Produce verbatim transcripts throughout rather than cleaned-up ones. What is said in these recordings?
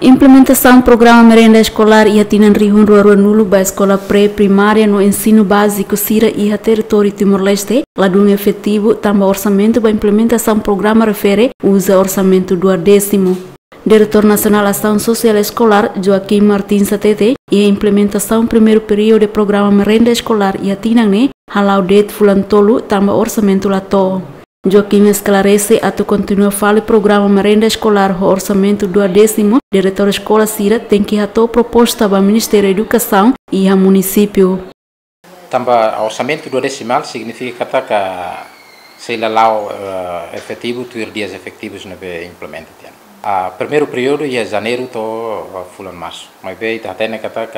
Implementasaun programa merenda eskolár iha tinan rihun rua rua nulu ba eskola pré-primária no ensinu báziku sira iha territóriu Timor-Leste ladún efetivu, tanba orsamentu ba implementasaun programa refere uza orsamentu duodésimu. Diretór Nasionál Asaun Sosiál Eskolár, Joaquim Martins, hatete, iha implementasaun primeiru períodu programa merenda eskolár iha tinan ne'e hala'o de'it fulan tolu, tanba orsamentu la to'o. Joaquim esklarese, atu kontinua fali programa merenda eskolár ho orsamentu duodésimu, diretór eskola sira tenke hato'o proposta ba Ministériu Edukasaun iha munisípiu. Tanba orsamentu duodesimál signifika katak sei la la'o, eh, efetivu tuir dias efetivus ne'ebé implementa tiha ona. Ah, primeiru períodu iha janeiru to'o, ah, fulan marsu. Maibé ita hatene katak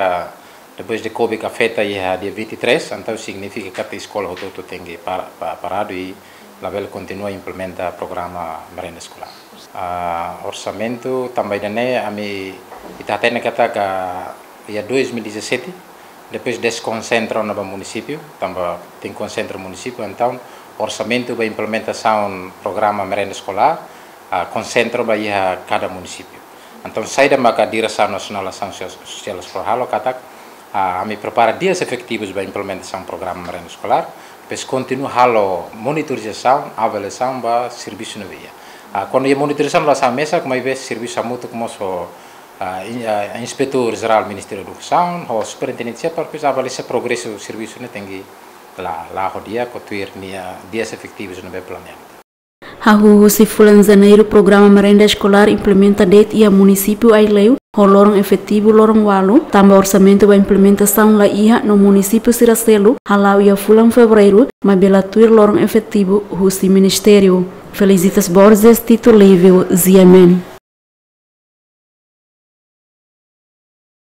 depois de COVID afeta iha dia vinte e três, entaun signifika katak eskola hotu-hotu tenke para, pa-, paradu i labele kontinua implementa programa merenda eskolár. Ah, orsamentu tanba ida-ne'e ami, ita hatene katak iha dois mil e dezassete, depois deskonsentra ona ba munisípiu, tanba tenke konsentra munisípiu, entaun orsamentu ba implementasaun programa merenda eskolár, ah, konsentra ba iha kada munisípiu. Entaun saida maka Diresaun Nasionál Asaun Sosiál, Sosiál Eskolár halo katak, ah, ami prepara dias efetivus ba implementasaun programa merenda eskolár, depois kontinua halo monitorizasaun, avaliasaun ba servisu ne'ebé iha. Ah, kuandu iha monitorizasaun la sai mesak, maibé servisu hamutuk mós ho, ah, in-, ah, Inspetór Jerál Ministériu Edukasaun, ho Superintendente sira para depois avalia se progresu servisu ne'e tenke la, la'o di'ak ka tuir nia dias efetivus ne'ebé planeia. Hahú husi fulan janeiru programa merenda eskolár implementa de'it iha munisípiu Aileu ho loron efetivu loron ualu, tanba orsamentu ba implementasaun la iha no munisípiu sira seluk hala'o iha fulan fevereiru, maibé la tuir loron efetivu husi ministériu. Felicitas Borges, Tito Livio, G M N.